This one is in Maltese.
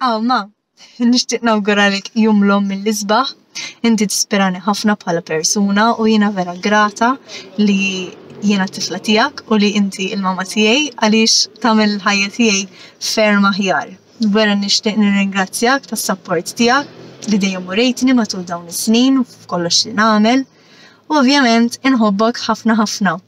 Aw, ma, nixtieq nawguralek jum l-omm mill-isbaħ. Inti tispirani ħafna bħala persuna u jiena vera grata li jiena t-tifla tiegħek u li inti il-mama tiegħi għaliex tagħmel il-ħajja tiegħi ferm aħjar. Vera nixtieq nirringrazzjak tas-sapport tiegħek li dejjem urejtni matul dawn is-snin f'kollox li nagħmel. U ovvjament inħobbok ħafna ħafna.